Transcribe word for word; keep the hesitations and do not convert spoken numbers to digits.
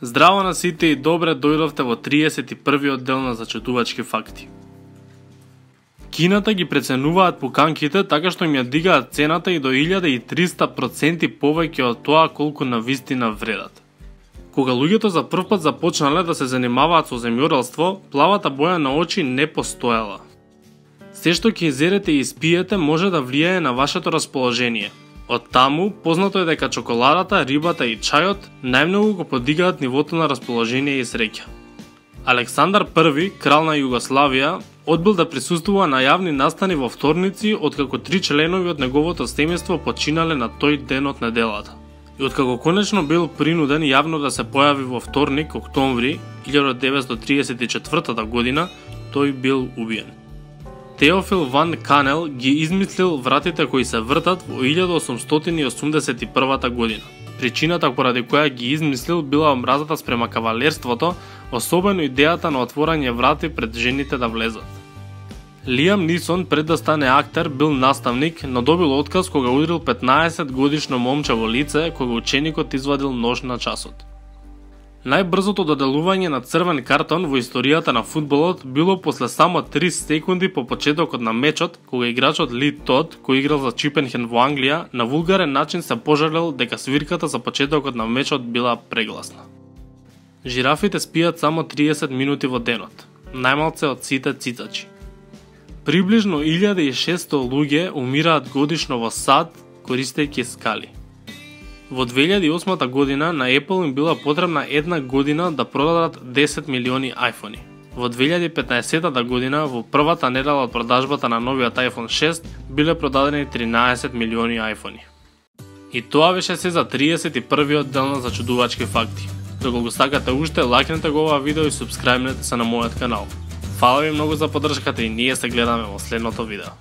Здраво на сите и добре дојдовте во триесет и првиот дел на Зачудувачки факти. Кината ги преценуваат пуканките така што им ја дигаат цената и до илјада и триста проценти повеќе од тоа колку навистина вредат. Кога луѓето за прв пат започнале да се занимаваат со земјоделство, плавата боја на очи не постоела. Се што ќе изедете и испиете може да влијае на вашето расположение. Од таму, познато е дека чоколадата, рибата и чајот најмногу го подигаат нивото на расположение и среќа. Александар Први, крал на Југославија, одбил да присуствува на јавни настани во вторници откако три членови од неговото семејство починале на тој ден од неделата. И откако конечно бил принуден јавно да се појави во вторник, октомври илјада деветстотини триесет и четвртата година, тој бил убиен. Теофил ван Канел ги измислил вратите кои се вртат во илјада осумстотини осумдесет и првата година. Причината поради која ги измислил била омразата спрема кавалерството, особено идејата на отворање врати пред жените да влезат. Лиам Нисон пред да стане актер бил наставник, но добил отказ кога удрил петнаесет годишно момче во лице кога ученикот извадил нож на часот. Најбрзото доделување на црвен картон во историјата на фудбалот било после само три секунди по почетокот на мечот, кога играчот Ли Тод, кој играл за Чипенхен во Англија, на вулгарен начин се пожалел дека свирката за почетокот на мечот била прегласна. Жирафите спијат само триесет минути во денот, најмалце од сите цицачи. Приближно илјада и шесто луѓе умираат годишно во САД користејќи скали. Во две илјади и осма година на Apple им била потребна една година да продадат десет милиони iPhone-и. Во две илјади и петнаесетата година, во првата недела од продажбата на новиот iPhone шест, биле продадени тринаесет милиони iPhone-и. И тоа беше се за триесет и првиот дел на Зачудувачки факти. Доколку сакате уште, лајкнете го ова видео и субскрајбнете се на мојот канал. Фала ви многу за поддршката и ние се гледаме во следното видео.